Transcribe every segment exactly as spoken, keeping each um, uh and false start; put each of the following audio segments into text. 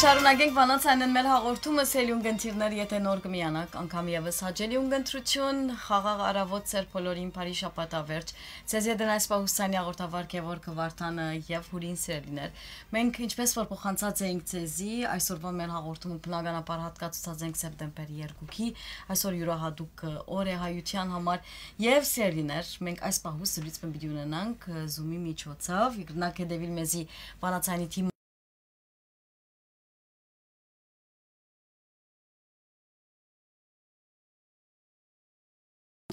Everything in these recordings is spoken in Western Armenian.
Շարունակենք Վանաց Անեն մեր հաղորդումը, սիրելի ունգընտիրներ, եթե նոր կը միանաք, անգամ եւս հաճելի ունգընտրություն, խաղաղ առավոտ ձեր բոլորին, բարի շաբաթ ավերջ։ Ձեզ հետ են այս պահուստանի հաղորդավար Գևորգ Վարդանը եւ Հուրին, սիրելիներ։ Մենք, ինչպես որ փոխանցած էինք ձեզի, այսօրվա մեր հաղորդումը բնականաբար հատկացուցած ենք սեպտեմբեր երկուքի, այսօր յուրահատուկ օր է հայության համար, եւ սիրելիներ, մենք այս պահուստը լուծմը պիտի ունենանք Zoom-ի միջոցով, կրնաք հետեւիլ մեզի Վանաց Անի թիմը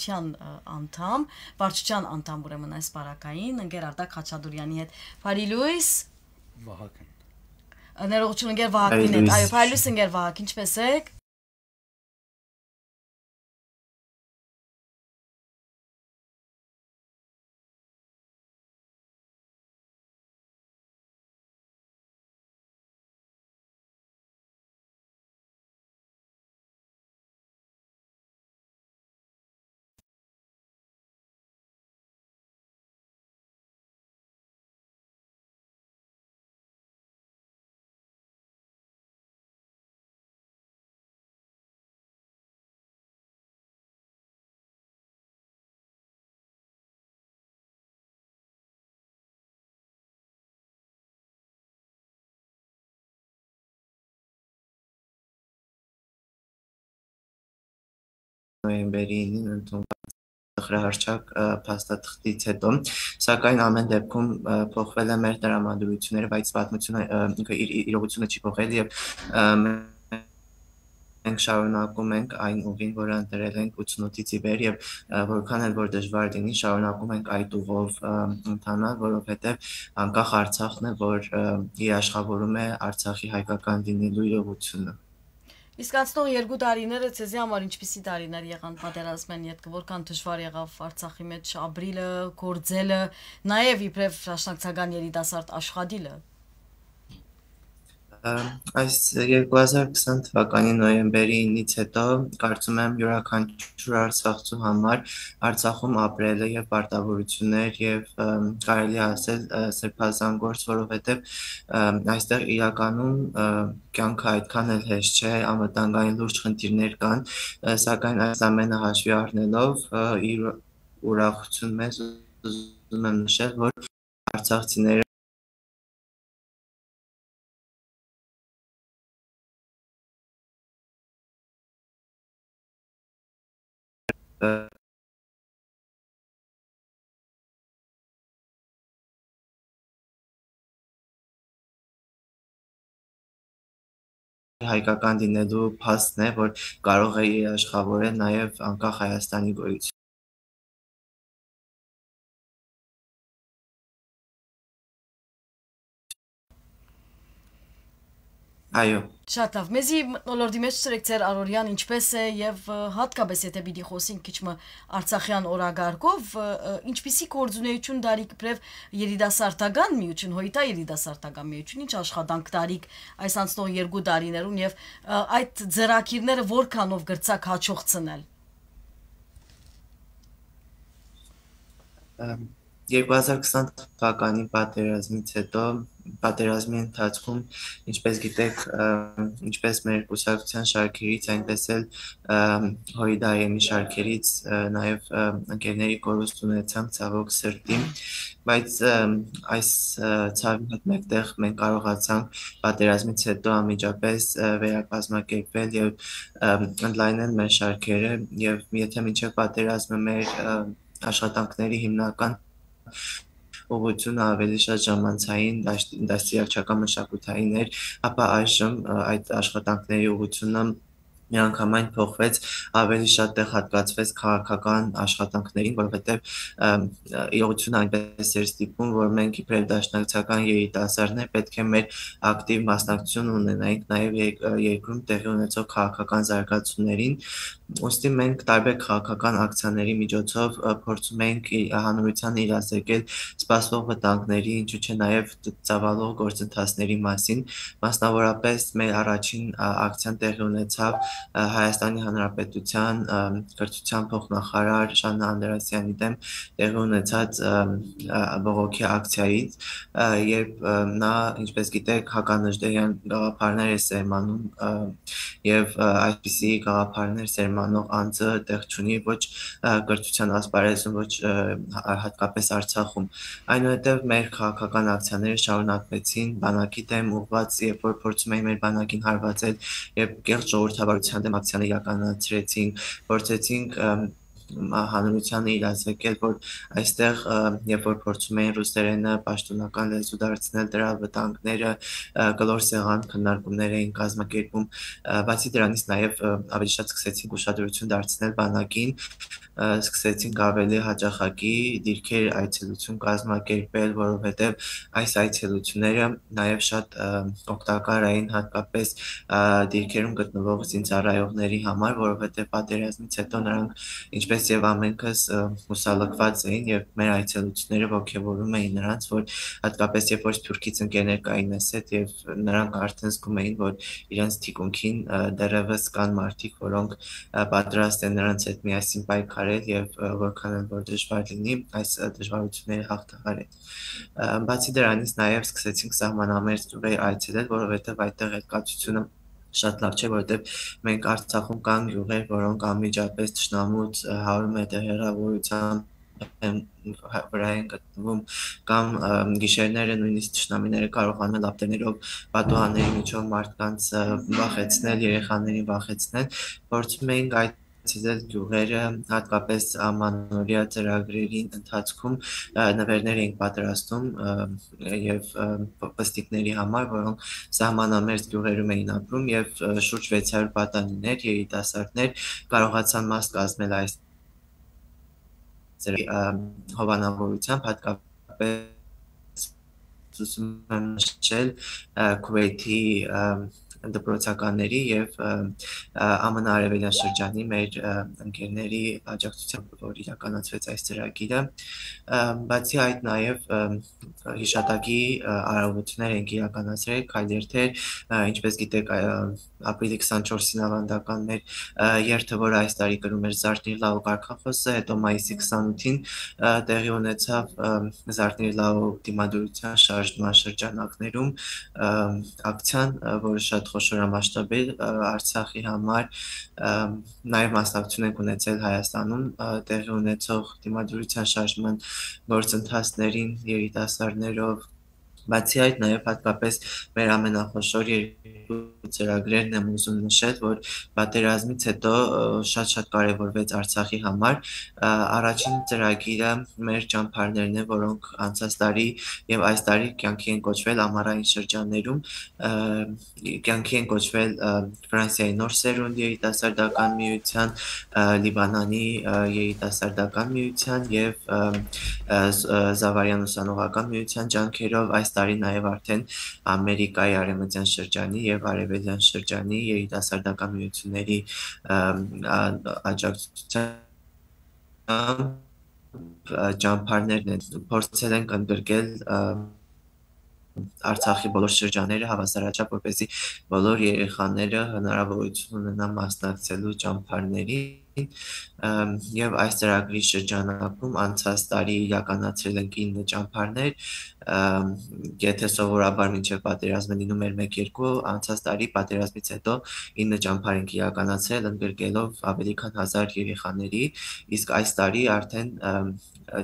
անդամ, վարչության անդամ, ուրեմն այս պարագային, ընկեր Արտակ Խաչատուրեանի հետ։ Բարի լույս։ Վահագն։ Ներողություն, ընկեր Վահագնին հետ։ Այո, բարի լույս, ընկեր Վահագ, ինչպե՞ս եք։ Նոյեմբերի ինին ընդունուած տխրահռչակ փաստաթղթից հետո, սակայն ամէն դեպքում փոխվել է մեր տրամադրությունները, բայց պատմությունը, ինքը իր իրողությունը չի փոխել, եւ մենք շարունակում ենք այն ուղին, որը ընտրել ենք ութսունութից ի վեր, եւ որքան էլ որ դժվար լինի, շարունակում ենք այդ ուղով ընթանալ, որովհետեւ անկախ Արցախն է, որ երաշխավորում է Արցախի հայկական լինելու իրողությունը։ Իսկ անցնող երկու տարիները ձեզի համար ինչպիսի տարիներ եղան պատերազմէն ետքը, որքան դժվար եղաւ Արցախի մեջ ապրիլը, գործելը, նաեւ իբրեւ դաշնակցական երիտասարդ աշխատիլը։ Այս երկու հազար քսան թվականի նոյեմբերի ինից հետո, կարծում եմ, յուրաքանչյուր արցախցու համար Արցախում ապրելը եւ պարտավորություններ եւ, կարելի է ասել, սրբազան գործ, որովհետեւ այստեղ իրականում կյանքը այդքան էլ հեշտ չէ, անվտանգային լուրջ խնդիրներ կան, սակայն այս ամենը հաշվի առնելով, իր ուրախություն մեզ ուզում եմ նշել, որ արցախցիները հայկական լինելու փաստն է, որ կարող է երաշխավորել նաև անկախ Հայաստանի գոյություն։ Այո։ Շատ լավ։ Մեզի մթնոլորտի մեջ ցրեք ձեր առօրեան ինչպես է, եւ հատկապես եթե պիտի խոսենք քիչ մը արցախեան օրագարկով, ինչպիսի գործունեություն դարիք իբրեւ երիտասարդական միություն, հոյտա երիտասարդական միություն, ինչ աշխատանք դարիք այս անցնող երկու տարիներուն, եւ այդ ծրագիրները որքանով կրցակ հաջողցնել։ Երկու հազար քսան թվականի պատերազմից հետո, պատերազմի ընթացքում, ինչպես գիտեք, ինչպես մեր կուսակցության շարքերից, այնպես էլ հոյդայեմի շարքերից նաև ընկերների կորուստ ունեցանք, ցավոք սրտի, բայց այս ցավի հետ մեկտեղ մենք կարողացանք պատերազմից հետո անմիջապես վերակազմակերպվել եւ ընդլայնել մեր շարքերը, եւ եթե մինչեւ պատերազմը մեր աշխատանքների հիմնական ուղղությունը ավելի շատ ժամանցային, դաշտ-, դաստիարակչական մշակութային էր, ապա այժմ այդ աշխատանքների ուղղությունը միանգամայն փոխվեց, ավելի շատ տեղ հատկացվեց քաղաքական աշխատանքներին, որովհետեւ իրողությունը այնպես էր ստիպում, որ մենք իբրեւ դաշնակցական երիտասարդներ պետք է մեր ակտիվ մասնակցություն ունենայինք նաև երկ-, երկրում տեղի ունեցող քաղաքական զարգացումներին։ Ուստի մենք տարբեր քաղաքական ակցիաների միջոցով փորձում ենք հանրությանը իրազեկել սպասվող վտանգների, ինչու՞ չէ նաև ծավալող գործընթացների մասին։ Մասնավորապես մեր առաջին ակցիան տեղի ունեցավ ը, Հայաստանի Հանրապետութեան, ը, կրթութեան փոխնախարար Ժաննա Անդրեասեանի դէմ տեղի ունեցած, ը, ը, բողոքի ակցիայից, ը, երբ, ը, նա, ինչպես գիտեք, հականժդեհեան գաղափարներ է սերմանում, ը, եւ, ը, այսպիսի գաղափարներ սերմանող անձը տեղ չունի ոչ, ը, կրթութեան ասպարեզում, ոչ, ը, հա-, հատկապես Արցախում։ Այնուհետեւ մեր քաղաքական ակցիաները շարունակվեցին բանակի դէմ ուղղված, երբ որ փորձում էին մեր բանակին հարվածել, երբ կեղծ ժողովրդավարութեան դէմ ակցիաներ իրականացրեցինք, փորձեցինք, ըմ, մա-, հանրութեանը իրազեկել, որ այստեղ, ը, երբ որ փորձում էին ռուսերէնը պաշտոնական լեզու դարձնել, դրա վտանգները, ը, կլոր սեղան քննարկումներ էին կազմակերպում։ Ը, բացի դրանից, նաեւ, ը, ավելի շատ սկսեցինք ուշադրություն դարձնել բանակին, ը, սկսեցինք ավելի հաճախակի դիրքեր այցելություն կազմակերպել, որովհետեւ այս այցելությունները նաեւ շատ, ը, օգտակար էին, հատկապես, ը, դիրքերում գտնվող զինծառայողների համար, որովհետեւ պատերազմից հետո նրանք, ինչպես եւ ամենքս, ը, հուսալքված էին, եւ մեր այցելությունները ոգեւորում էին նրանց, որ հատկապես երբ որ սփյուռքից ընկերներ կային մեզ հետ, եւ նրանք արդեն զգում էին, որ իրենց թիկունքին, ը, դեռեւս կան մարդիկ, որոնք, ը, պատրաստ են նրանց հետ միասին պայքարել, եւ, ը, որքան էլ որ դժուար լինի, այս, ը, դժվարությունները հաղթահարել։ Ը, բացի դրանից, նաեւ սկսեցինք սահմանամերձ գիւղեր այցելել, որովհետեւ այդտեղ էլ կացությունը շատ լաւ չէ, որովհետեւ մենք Արցախում կան գիւղեր, որոնք անմիջապէս թշնամուց, ը, հարիւր մետր հեռաւորութեան են, հա, վրայ են գտնվում, կամ, ը, գիշերները նոյնիսկ թշնամիները կարողանում են լապտերներով պատուհանների միջով մարդկանց, ը, վախեցնել, երեխաներին վախեցնել։ Փորձում էինք այցելել գիւղերը, հատկապես Ամանորեայ ծրագրերին ընթացքում, ը, նուէրներ էինք պատրաստում, ը, եւ, ը, ਪ-, պստիկների համար, որոնք սահմանամերձ գիւղերում էին ապրում, եւ, ը, շուրջ վեց հարիւր պատանիներ, երիտասարդներ կարողացան մաս կազմել այս ծրագրի, ը, հովանավորութեամբ, հատկապես ուզում եմ նշել, ը, Քուէյթի, ը, դպրոցականների եւ, ը, ը, Ա Մ Ն արեւելյան շրջանի մեր, ը, ընկերների աջակցությամբ, որ իրականացվեց այս ծրագիրը։ Ը, բացի այդ, նաեւ, ը, հիշատակի, ը, արարողություններ ենք իրականացրել, քայլերթեր, ը, ինչպես գիտեք, ը, ապրիլի քսանչորսին աւանդական մեր, ը, երթը, որը այս տարի կրում էր Զարթնիր լաու կարգախոսը, հետո մայիսի քսանութին, ը, տեղի ունեցավ, ը, Զարթնիր լաու դիմադրութեան շարժման շրջանակներում, ը, ակցիան, ը, որը շատ խոշոր մասշտաբ էր, ը, Արցախի համար, ը, նաեւ մասնակցություն ենք ունեցել Հայաստանում, ը, տեղի ունեցող դիմադրութեան շարժման գործընթացներին երիտասարդներով, բացի այդ, նաեւ հատկապես մեր ամենախոշոր երկու ծրագրերն եմ ուզում նշել, որ պատերազմից հետո, ը, շատ-շատ կարեւորվեց Արցախի համար։ Ը, առաջին ծրագիրը մեր ճամբարներն են, որոնք անցած տարի եւ այս տարի կյանքի են կոչվել ամառային շրջաններում, ը, կյանքի են կոչվել, ը, Ֆրանսիայի Նոր Սերունդ երիտասարդական միութեան, ը, Լիբանանի, ը, երիտասարդական միութեան եւ, ը, ը, Զ-, ը, Զավարյան ուսանողական միութեան ջանքերով այս տարի նաեւ արդեն Ամերիկայի արեւմտեան շրջանի եւ արեւելեան շրջանի երիտասարդական միութիւնների, ը, ա-, աջակցութեամբ, ը, ճամբարներն են, փորձել ենք ընդգրկել, ը, Արցախի բոլոր շրջանները, հավասարաչափ, որպեսզի բոլոր երեխաները հնարաւորութիւն ունենան մասնակցելու ճամբարներին, ը, եւ այս ծրագրի շրջանակում անցած տարի իրականացրել ենք ինը ճամբարներ, ը, եթե սովորաբար մինչեւ պատերազմը լինում էր մեկ-երկու, անցած տարի պատերազմից հետո ինը ճամբար ենք իրականացրել, ընդգրկելով ավելի քան հազար երեխաների, իսկ այս տարի արդեն, ը,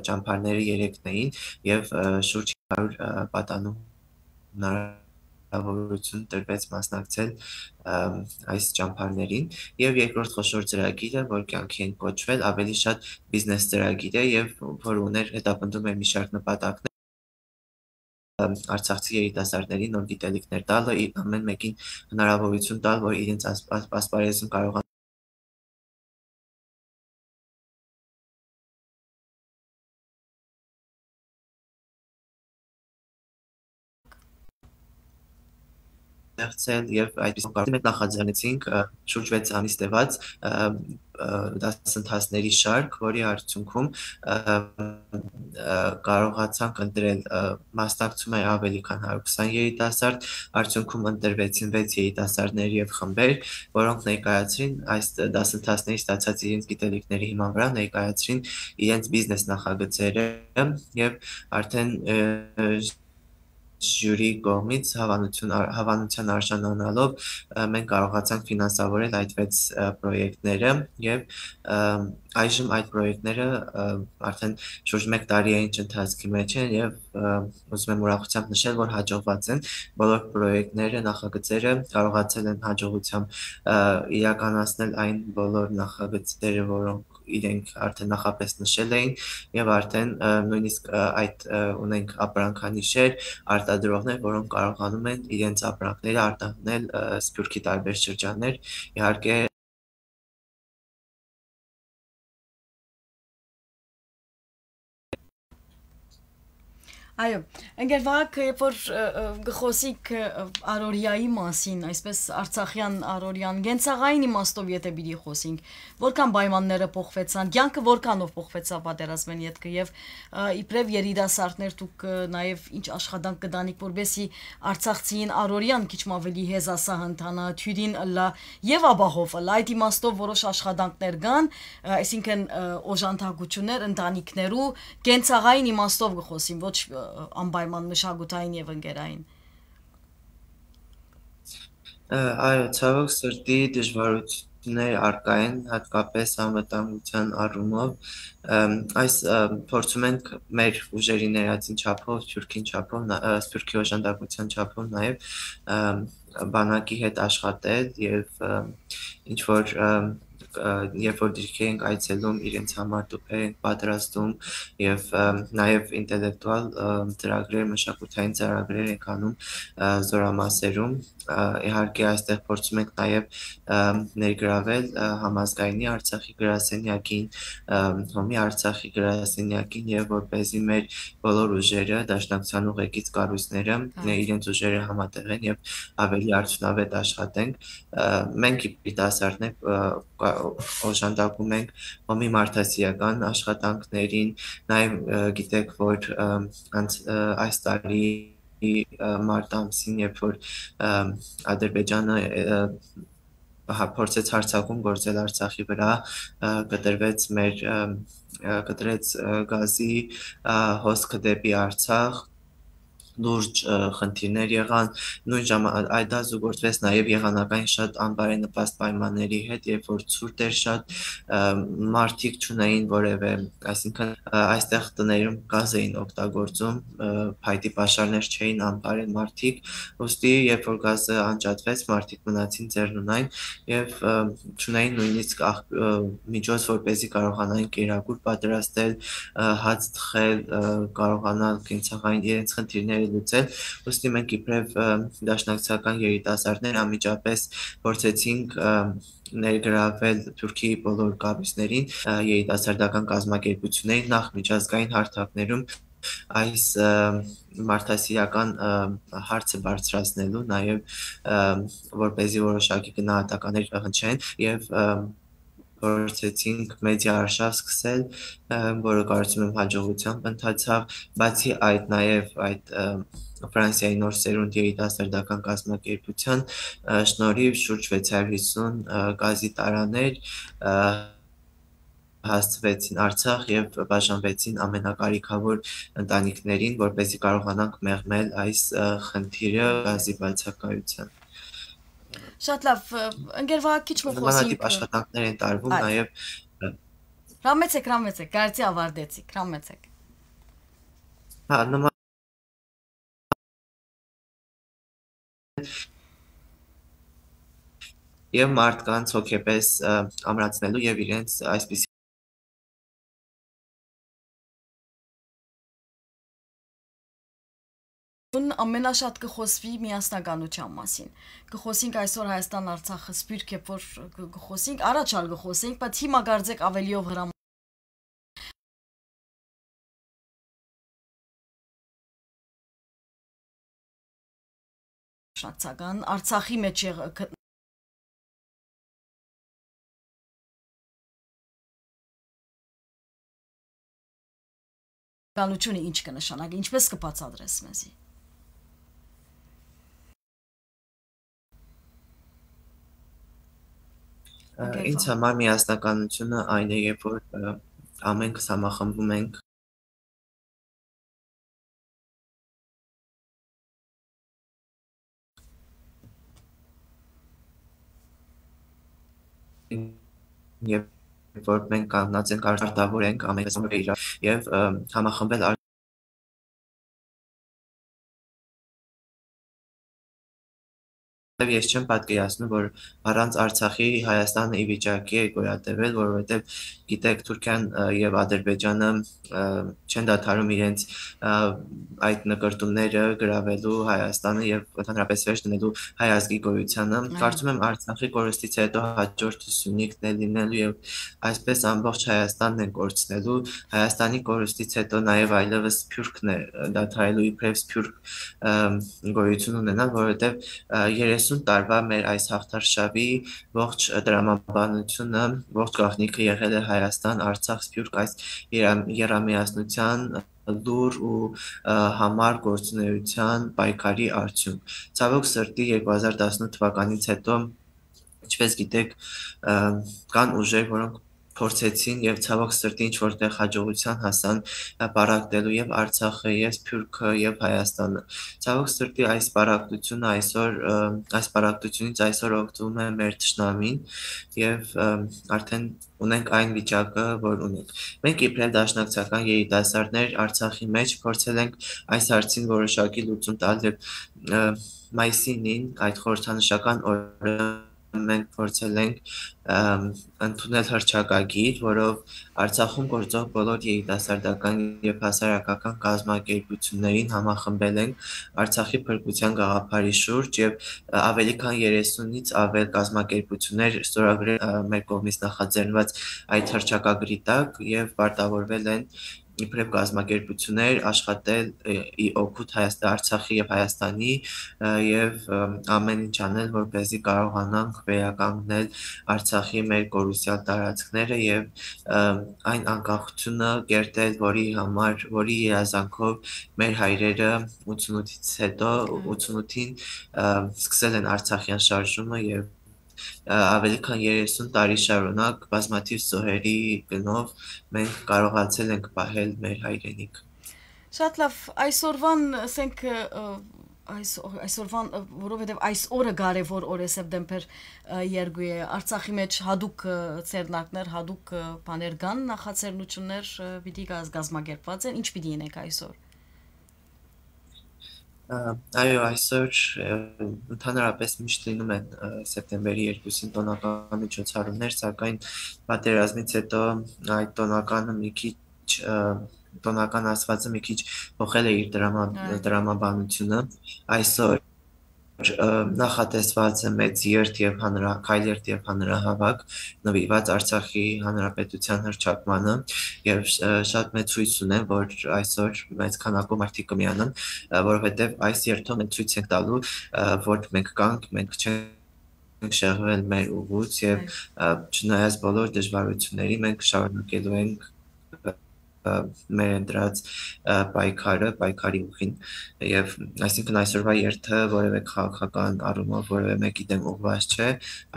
ճամբարները երեքն էին եւ, ը, շուրջ հարիւր, ը, պատանու հնարաւորութիւն տրվեց մասնակցել, ը, այս ճամբարներին։ Եւ երկրորդ խոշոր ծրագիրը, որ կյանքի են կոչվել, ավելի շատ բիզնես ծրագիր է եւ որ ուներ, հետապնդում էր մի շարք նպատակներ, ը, արցախցի երիտասարդներին նոր գիտելիքներ տալը, իր ամեն մեկին հնարաւորութիւն տալ, որ իրենց ասպ-, ասպ-, ասպարեզում կարողան ստեղծել եւ այդպիսով կարծում ենք նախաձեռնեցինք, ը, շուրջ վեց ամիս տեւած, ը, ը, դասընթացների շարք, որի արդյունքում, ը, ը, կարողացանք ընտրել, ը, մասնակցում է ավելի քան հարյուր քսան երիտասարդ, արդյունքում ընտրվեցին վեց երիտասարդներ եւ խմբեր, որոնք ներկայացրին այս դասընթացների ստացած իրենց գիտելիքների հիման վրա, ներկայացրին իրենց բիզնես նախագծերը եւ արդեն, ը, ժյուրի կողմից հավանություն ար-, հավանության արժանանալով, ը, մենք կարողացանք ֆինանսավորել այդ վեց, ը, պրոյեկտները եւ, ը, այժմ այդ պրոյեկտները, ը, արդեն շուրջ մեկ տարի է ինչ ընթացքի մեջ են եւ, ը, ուզում եմ ուրախությամբ նշել, որ հաջողված են բոլոր պրոյեկտները, նախագծերը կարողացել են հաջողությամբ, ը, իրականացնել այն բոլոր նախագծերը, որոնք իրենք արդեն նախապես նշել էին, եւ արդեն, ը, նույնիսկ, ը, այդ, ը, ունենք ապրանքանիշեր, արտադրողներ, որոնք կարողանում են իրենց ապրանքները արտահանել, ը, Սփիւռքի տարբեր շրջաններ։ Իհարկե, Այո, ընկեր Վահագ, երբ որ, ը, ը, գխոսիկ, ը, ը, առօրյայի մասին, այսպես արցախյան առօրյան, կենցաղային իմաստով եթե պիտի խոսենք, որքան պայմանները փոխվեցան, կյանքը որքանով փոխվեցաւ պատերազմէն ետքը եւ, ը, իբրեւ երիտասարդներ դուք, ը, նաեւ ինչ աշխատանք կտանիք, որպեսզի արցախցիին առօրյան քիչ մը ավելի հեզասահ ընթանայ, թիւրին ըլլայ եւ ապահով ըլլայ։ Այդ իմաստով որոշ աշխատանքներ կան, ը, այսինքն, ը, օժանդակություններ ընտանիքներու, կենցաղային իմաստով կը խօսիմ, ոչ, ը, անպայման մշակութային եւ ընկերային։ Ը, այո, ցավոք սրտի դժվարություններ առկայ են, հատկապես անվտանգության առումով։ Ըմ, այս, ը, փորձում ենք մեր ուժերի ներածին չափով, Սփիւռքին չափով, նա-, ը, Սփիւռքի օժանդակության չափով նաեւ, ըմ, բանակի հետ աշխատել եւ, ը, ինչ որ, ը, ը, երբ որ դիրքեր ենք այցելում, իրենց համար տուփեր ենք պատրաստում եւ, ը, նաեւ ինտելեկտուալ, ը, ծրագրեր, մշակութային ծրագրեր ենք անում, ը, զորամասերում։ Ը, իհարկե այստեղ փորձում ենք նաեւ, ը, ներգրավել, ը, համազգայինի Արցախի գրասենյակին, ը, Հոմի Արցախի գրասենյակին եւ որպեսզի մեր բոլոր ուժերը, Դաշնակցության ուղեկից կառույցները, Հա։ ը, իրենց ուժերը համատեղեն եւ ավելի արդյունավետ աշխատենք։ Ը, մենք երիտասարդներ, ը, կա-, օժանդակում ենք Հոմի մարդասիրական աշխատանքներին, նաեւ, ը, գիտեք, որ, ը, անց-, ը, այս տարի, ը, մարտ ամսին, երբ որ, ը, Ադրբեջանը, ը, հա-, փորձեց հարձակում գործել Արցախի վրա, ը, կտրվեց մեր, ը, ը, կտրեց, ը, գազի, ը, հոսքը դեպի Արցախ, լուրջ, ը, խնդիրներ եղան, նոյն ժամա-, այդ դասը գործվեց նաեւ եղանակային շատ անբարենպաստ պայմանների հետ, երբ որ ցուրտ էր շատ, ը, մարդիկ չունեին որեւէ, այսինքն, ը, այստեղ տներում գազ էին օգտագործում, ը, փայտի պաշարներ չէին անբարեն մարդիկ, ուստի երբ որ գազը անջատվեց, մարդիկ մնացին ձեռնունայն եւ, ը, չունեին նոյնիսկ աղ-, ը, միջոց, որպեսզի կարողանային կերակուր պատրաստել, ը, հաց թխել, ը, կարողանալ կենցաղային իրենց խնդիրները լուծել, ուստի մենք իբրեւ, ը, դաշնակցական երիտասարդներ անմիջապես փորձեցինք, ը, ներգրավել Թուրքիի բոլոր կառույցներին, ը, երիտասարդական կազմակերպություններին, նախ միջազգային հարթակներում այս, ը, մարդասիրական, ը, հարցը բարձրացնելու, նաեւ, ը, որպեսզի որոշակի գնահատականներ հնչեն եւ, ը, փորձեցինք մեդիա արշավ սկսել, ը, որը կարծում եմ հաջողությամբ ընթացավ։ Բացի այդ, նաեւ այդ, ը, Ֆրանսիայի Նոր Սերունդ երիտասարդական կազմակերպության, ը, շնորհիվ շուրջ վեց հարյուր հիսուն, ը, գազի տարաներ, ը, հասցուեցին Արցախ եւ բաժանվեցին ամենակարիքավոր ընտանիքներին, որպեսզի կարողանանք մեղմել այս, ը, խնդիրը գազի բացակայության։ Շատ լավ, ը, ընկեր Վահագ, քիչ մը Նմանատիպ խօսինք, ը, աշխատանքներ են տարվում Այո։ Նաեւ, ը, Հրամեցեք, հրամեցեք, կարծի ավարտեցիք, հրամեցեք։ Հա, նման եւ մարդկանց հոգեպես, ը, ամրացնելու եւ իրենց այսպիսի Ուն ամենաշատ կը խոսվի միասնականության մասին։ Կը խոսենք այսօր Հայաստան Արցախը սփյուռք է, որ կը, կը խոսենք, առաջ ալ կը խոսենք, բայց հիմա կարծեք ավելիով հրամ Դաշնակցական Արցախի մէջ եղ-, գ-, ականութիւնը ինչ կը նշանակի, ինչպէս կը բացատրես մեզի։ Ա, Ագերվա։ Ինձ համար միասնականութիւնը այն է, երբ որ, ը, ամենքս համախմբում ենք երբ որ մենք կանգնած ենք, արտավոր ենք, ամենքս իրար, եւ, ը, համախմբել ար-, եւ ես չեմ պատկերացնում, որ առանց Արցախի Հայաստանը ի վիճակի է գոյատևել, որովհետեւ, գիտեք, Թուրքիան, ը, եւ Ադրբեջանը, ը, չեն դադարում իրենց, ը, այդ նկրտումները գրաւելու Հայաստանը եւ ընդհանրապես վերջ դնելու հայ ազգի գոյությանը։ Այո։ Կարծում եմ, Արցախի կորուստից հետո հաջորդը Սյունիքն է լինելու եւ այսպես ամբողջ Հայաստանն են կորցնելու։ Հայաստանի կորուստից հետո նաեւ այլեւս Սփիւռքն է, ը, դադարելու իբրեւ Սփիւռք, ը, գոյություն ունենալ, որովհետեւ, ը, երեսուն տարուայ մեր այս հաղթարշաւի ողջ տրամաբանությունը, ողջ գաղտնիքը եղել է Հայաստան, Արցախ, Սփիւռք, այս երա-, եռամիասնության լուր ու, ը, համար գործունեության պայքարի արդիւնք։ Ցաւոք սրտի, երկու հազար տասնութ թվականից հետո, ինչպես գիտեք, ը, կան ուժեր, որոնք փորձեցին եւ, ցաւոք սրտի, ինչ-որ տեղ հաջողության հասան, ը, պառակտելու եւ Արցախը, եւ Սփիւռքը, եւ Հայաստանը։ Ցաւոք սրտի, այս պառակտությունը այսօր, ը, այս պառակտությունից այսօր օգտվում է մեր թշնամին եւ, ը, արդեն ունենք այն վիճակը, որ ունենք։ Մենք իբրեւ դաշնակցական երիտասարդներ Արցախի մէջ փորձել ենք այս հարցին որոշակի լուծում տալ եւ, ը, մայիսին, այդ խորհրդանշական օրը մենք փորձել ենք, ըմ, ընդունել հռչակագիր, որով Արցախում գործող բոլոր երիտասարդական եւ հասարակական կազմակերպություններին համախմբել ենք Արցախի փրկության գաղափարի շուրջ եւ, ը, ավելի քան երեսունից ավել կազմակերպություններ ստորագրել, ը, մեր կողմից նախաձեռնված այդ հռչակագրի տակ եւ պարտավորվել են իբրեւ կազմակերպություններ աշխատել, ը, ի օգուտ Հայաստա-, Արցախի եւ Հայաստանի, ը, եւ, ը, ամեն ինչ անել, որպեսզի կարողանանք վերականգնել Արցախի մեր կորուսյալ տարածքները եւ, ը, այն անկախությունը կերտել, որի համար, որի երազանքով մեր հայրերը ութսունութից հետո, Այո։ ութսունութին, ը, սկսել են Արցախեան շարժումը եւ, ը, ավելի քան երեսուն տարի շարունակ բազմաթիւ զոհերի գնով մենք կարողացել ենք պահել մեր հայրենիքը։ Շատ լավ, այսօրվան, ասենք, ը, այս, այսօրվան, ը, որովհետեւ այս օրը կարեւոր օր է, սեպտեմբեր, ը, երկու է, Արցախի մէջ հատուկ, ը, ձեռնարկներ, հատուկ, ը, բաներ կան, նախաձեռնություններ, ը, պիտի կազ-, կազմակերպված են, ինչ պիտի ինեք այսօր։ Ա, այո, այսօր, ը, ընդհանրապես միշտ լինում են, ը, սեպտեմբերի երկուսին տոնական միջոցառումներ, սակայն պատերազմից հետո այդ տոնականը մի քիչ, ը, տոնական ասվածը մի քիչ փոխել է իր դրամա-, Այո։ դրամաբանությունը։ Այսօր, ը, նախատեսված է մեծ երթ եւ հանրահ-, քայլերթ եւ հանրահավաք նվիրված Արցախի Հանրապետության հռչակմանը, եւ, ը, շատ մեծ հույս ունեմ, որ այսօր մեծ քանակով մարդիկ կը միանան, ը, որովհետեւ այս երթով մենք ցոյց ենք տալու, ը, որ մենք կանք, մենք չենք շեղվել մեր ուղուց եւ, Այո։ ը, չնայած բոլոր դժվարությունների, մենք շարունակելու ենք, ը, ը, մեր ընտրած, ը, պայքարը, պայքարի ուղին, եւ այսինքն այսօրվա երթը որեւէ քաղաքական առումով որեւէ մեկի դեմ ուղղված չէ,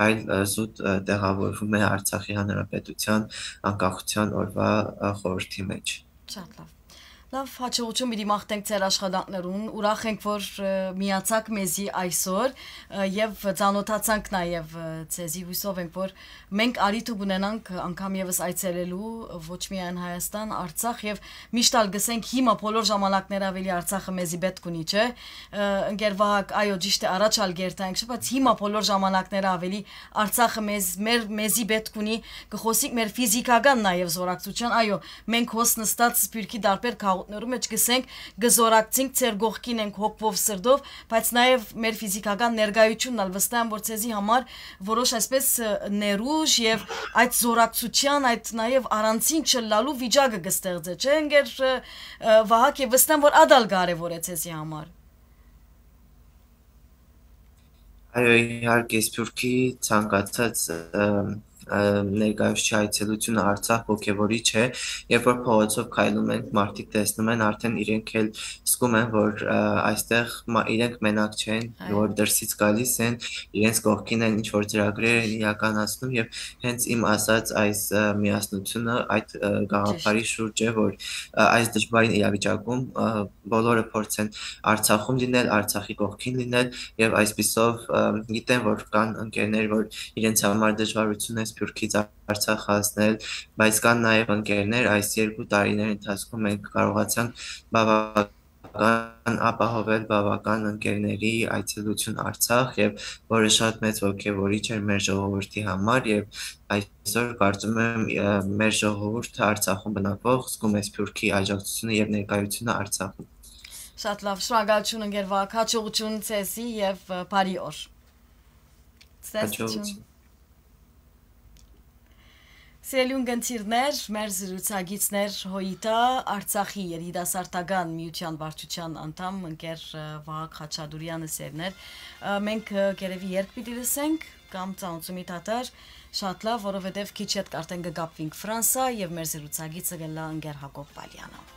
այլ, ը, զուտ, ը, տեղավորվում է Արցախի Հանրապետության անկախության օրվա, ը, խորհրդի մեջ։ Շատ լավ։ Լավ, հաջողություն պիտի մաղթենք ձեր աշխատանքներուն։ Ուրախ ենք, որ, ը, միացաք մեզի այսօր, ը, եւ ծանոթացանք նաեւ, ը, ձեզի։ Հուսով ենք, որ մենք առիթը կունենանք անգամ եւս այցելելու, ը, ոչ միայն Հայաստան, Արցախ, եւ միշտ ալ գսենք, հիմա բոլոր ժամանակները ավելի Արցախը մեզի պետք ունի, չէ՞։ Ը, ընկեր Վահագ, այո, ճիշդ է, առաջ ալ կերտայինք, բայց հիմա բոլոր ժամանակները ավելի Արցախը մեզ, մեր, մեզի պետք ունի, կխոսենք մեր ֆիզիկական նաեւ զորակցության, այո, մենք հոս նստած Սփիւռքի տարբեր քաղաքներու մէջ գսենք, կը զորակցենք, ձեր կողքին ենք հոգով, սրտով, բայց նաեւ մեր ֆիզիկական ներկայությունն ալ վստահ եմ, որ ձեզի համար որոշ այսպես, ը, ներուժ եւ այդ զորակցության, այդ նաեւ առանցին չլալու վիճակը կստեղծէ, չէ՞, ընկեր, ը, ը, Վահագ, եւ վստահ եմ, որ ադալ կարեւոր է ձեզի համար։ Այո, իհարկե, Սփիւռքի ցանկացած, ը, ը, ներկայացուցչի այցելությունը Արցախ ոգեւորիչ է, երբ որ փողոցով քայլում ենք, մարդիկ տեսնում են, արդեն իրենք էլ զգում են, որ, ը, այստեղ մա-, իրենք մենակ չեն, Այո։ որ դրսից գալիս են, իրենց կողքին են, ինչ որ ծրագրեր են իրականացնում, եւ հենց իմ ասած այս, ը, միասնությունը այդ, ը, գաղափարի Ճիշտ։ շուրջ է, որ, ը, այս դժվարին իրավիճակում, ը, բոլորը փորձեն Արցախում լինել, Արցախի կողքին լինել, եւ այսպիսով, ը, գիտեմ, որ կան ընկերներ, որ իրենց համար դժվարություն է Սփիւռքից Արցախ հասնել, բայց կան նաեւ ընկերներ, այս երկու տարիների ընթացքում մենք կարողացանք բավական ապահովել բավական ընկերների այցելություն Արցախ, եւ որը շատ մեծ ոգեւորիչ էր մեր ժողովրդի համար, եւ այսօր կարծում եմ, ը, մեր ժողովուրդը Արցախում բնակվող զգում է Սփիւռքի աջակցությունը եւ ներկայությունը Արցախում։ Շատ լավ, շնորհակալություն ընկեր Վահագ, հաջողություն ձեզի եւ, ը, բարի օր։ Ցտեսություն։ Հաջողություն։ Սիրելի ունգընտիրներ, մեր զրուցակիցներ Հոյիտա Արցախի երիտասարդական միության վարչության անդամ ընկեր, ը, Վահագ Խաչատուրեանը սերներ։ Ը, մենք, ը, կերևի երգ պիտի լսենք կամ ծանուցումի թատար, շատ լավ, որովհետև քիչ յետ արդեն կը կապվինք Ֆրանսա եւ մեր զրուցակիցը կ'ըլլայ ընկեր Հակոբ Պալյանը։